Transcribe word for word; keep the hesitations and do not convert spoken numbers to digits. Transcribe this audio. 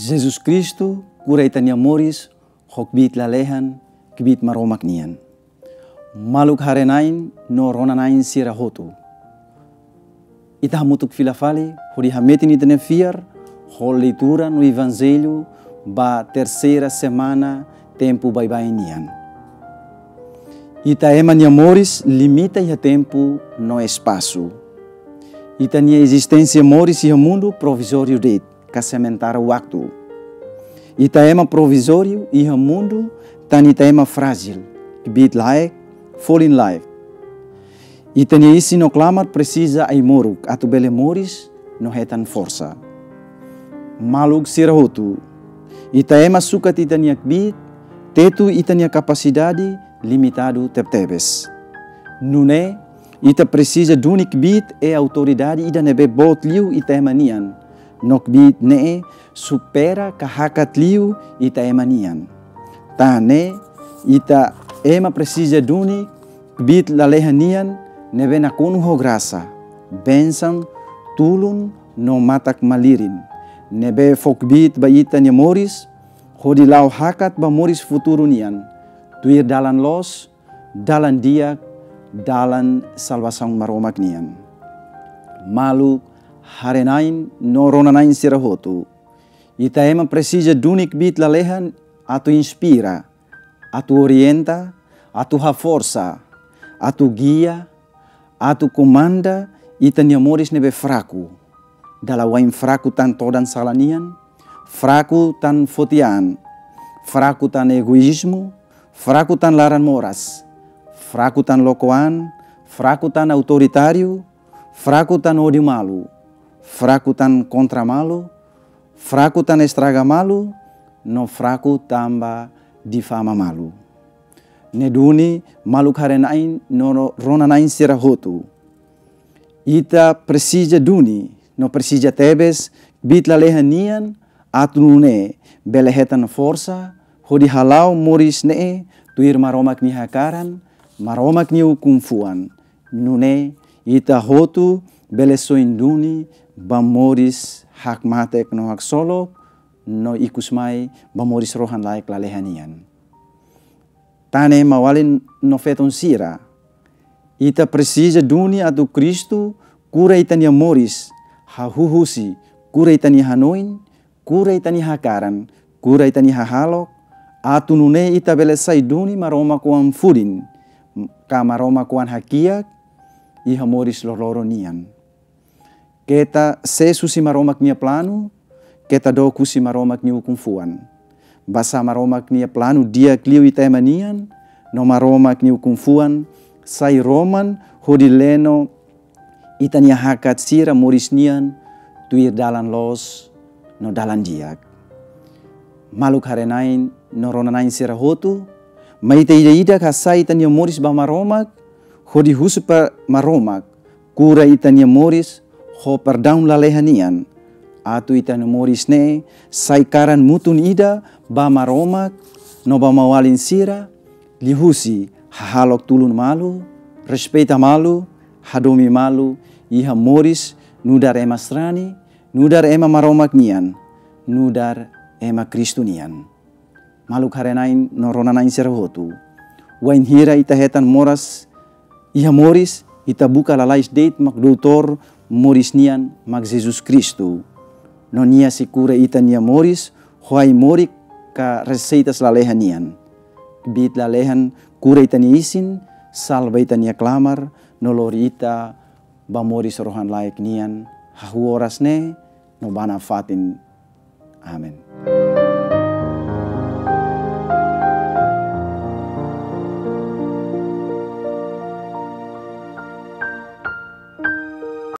Jesus Kristu kura ita-nia moris ho kbiit lalehan, kbiit Maromak nian. Maluk haree-na'in no rona-na'in sira hotu. Ita hamutuk fila fali hodi hametin ita-nia fiar ho leitura no Evanjellu ba terseira semana tempu baibain nian. Ita ema nia moris limita iha tempu no espasu. Ita-nia ezisténsia moris iha mundu provizóriu de'it, ka sementara waktu. Ita ema provizóriu iha mundu, tan ita ema frájil, kbiit-laek, folin-laek. Ita-nia isin no klamar presiza ai-moruk atu bele moris no hetan forsa. Maluk sira hotu, ita ema sukat ita-nia kbiit, tetu ita-nia kapasidade limitadu tebetebes. Nune'e, ita presiza duni kbiit i autoridade ida ne'ebé boot liu ita ema nian. No kbiit ne'e supera ka hakat liu ita ema nian. Tan ne'e, ita ema presiza duni kbiit lalehan nian ne'ebé nakonu ho grasa, bensaun, tulun no matak-malirin. Ne'ebé fó kbiit ba ita-nia moris, hodi la'o hakat ba moris futuru nian, tuir dalan loos, dalan di'ak, dalan salvasaun Maromak nian. Maluk haree-na'in no rona-na'in sira hotu. Ita ema presiza duni kbiit lalehan atu inspira, atu orienta, atu haforsa, atu gia, atu komanda ita-nia moris ne'ebé fraku. Dala wain fraku tan todan sala nian, fraku tan foti an, fraku tan egoízmu, fraku tan laran moras, fraku tan loko an, fraku tan autoritáriu, fraku tan ódiu malu, fraku tan kontra malu, fraku tan estraga malu, no fraku tanba difama malu. Ne'e duni maluk haree-na'in no rona-na'in sira hotu. Ita presiza duni, no presiza tebes, kbiit lalehan nian, atu nune'e bele hetan forsa hodi hala'o moris ne'e tuir Maromak nia hakaran, Maromak nia ukun-fuan. Nune'e ita hotu bele soin duni ba moris hakmatek no haksolok, no ikusmai ba moris rohan-laek lalehan nian. Tan ne'e maun-alin no feton sira, ita presiza duni atu Kristu kura ita-nia moris, hahú husi kura ita-nia hanoin, kura ita-nia hakaran, kura ita-nia hahalok, atu nune'e ita bele sai duni Maromak oan-fudin, ka Maromak oan hakiak iha moris loroloron nian. Keta sees husi Maromak nia planu, keta dook husi Maromak nia ukun-fuan. Basá Maromak nia planu di'ak liu ita ema nian, no Maromak nia ukun-fuan sai roman hodi leno ita-nia hakat sira moris nian tuir dalan loos no dalan di'ak. Maluk haree-na'in no rona-na'in sira hotu, mai ita ida-idak hasa'e ita-nia moris ba Maromak, hodi husu ba Maromak kura ita-nia moris ho perdaun lalehan nian, atu ita-nia moris ne'e sai karan mutun ida ba Maromak no ba maun-alin sira, liuhusi hahalok tulun malu, respeita malu, hadomi malu iha moris nu'udar ema sarani, nu'udar ema Maromak nian, nu'udar ema Kristu nian. Maluk haree-na'in no rona-na'in sira hotu. Wainhira ita hetan moras iha moris, ita buka lalais de'it mak doutór moris nian, mak Jesus Kristu. No nia sei kura ita-nia moris ho ai-moruk ka reseitas lalehan nian. Kbiit lalehan kura ita-nia isin, salva ita-nia klamar, no lori ita ba moris rohan-laek nian, hahú oras ne'e no ba nafatin. Amen.